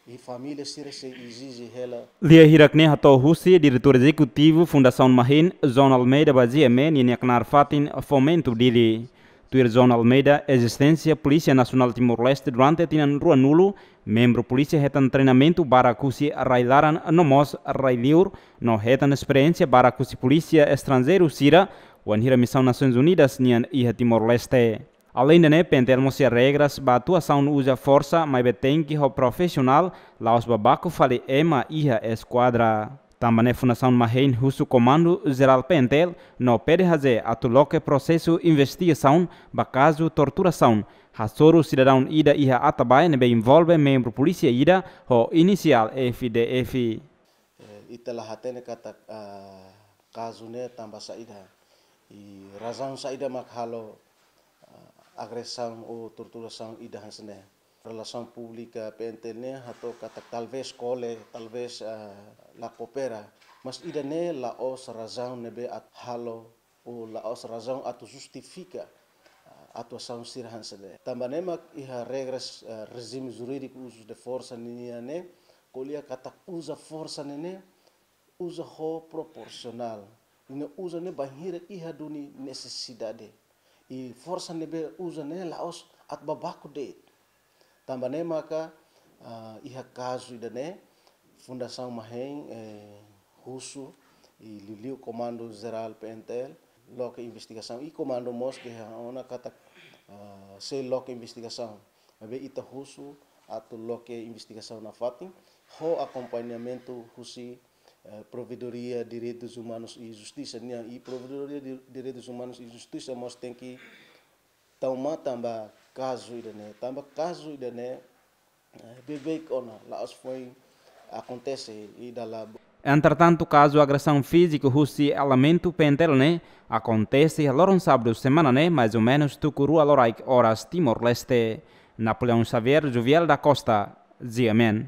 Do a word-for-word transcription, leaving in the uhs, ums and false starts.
I família sira sei ezije hela. Lia hirak ne'e hato'o husi Diretór Ezekutivu Fundasaun Mahein, João Almeida ba GMN ninia knaar fatin Fomento Dili. Tuir João Almeida, ezisténsia Polísia Nasionál Timor-Leste durante tinan ruanulu, membru polísia hetan treinamentu barak husi rai-laran no mós rai-liur, no hetan esperiénsia barak husi polísia estranjeiru sira, wainhira misaun Nasoins Unidas nian iha Timor-Leste. Aleinde ne'e, PNTL mós iha regras ba atuasaun uza forsa, maibé tenke ho profisionál, la'ós ba baku fali ema iha eskuadra. Tanba ne'e Fundasaun Mahein husu Komandu Jerál PNTL no PDHJ atu loke prosesu investigasaun ba kazu torturasaun hasoru sidadaun ida iha Atabae ne'ebé envolve membru polísia ida ho inisiál F D F. Eh, ita la hatene katak, ah, kazu ne'e tanba saida. I razaun saida mak halo, ah, agresaun ou torturasaun ida hanesan ne'e. Relasaun Públika PNTL ne'e hato'o katak talvés kole, talvés, ah, la koopera. Mas ida-ne'e la'ós razaun ne'ebé atu halo ou la'ós razaun atu justifika, ah, atuasaun sira hanesan ne'e. Tanba ne'e mak iha regras, ah, rejime jurídiku uzu de forsa ninian ne'e, ko'alia katak uza forsa ne'e ne'e, uza ho proporsionál. I ne'e uza ne'e bainhira iha duni nesesidade. I forsa ne'ebé uza ne'e la'ós atu ba baku de'it. Tanba ne'e maka, ah, iha kazu ida-ne'e, Fundasaun Mahein, eh, husu, i liuliu Komandu Jerál PNTL, loke investigasaun, i komandu mós dehan ona katak, ah, sei loke investigasaun. Maibé ita husu atu loke investigasaun nafatin, ho akompañamentu husi, eh, Provedoria Direitus Umanus i Justisa nian, i Provedoria Di-, Direitus Umanus i Justisa mós tenke tau matan ba kazu ida-ne'e, tanba kazu ida-ne'e, eh, beibeik ona, la'ós foin akontese i dala. Entretantu, kazu agresaun fíziku husi elementu PNTL ne'e akontese iha loron sábadu semana ne'e, mais ou menus tuku rua loraik oras Timor-Leste. Napoleão Xavier, Jovial da Costa, GMN.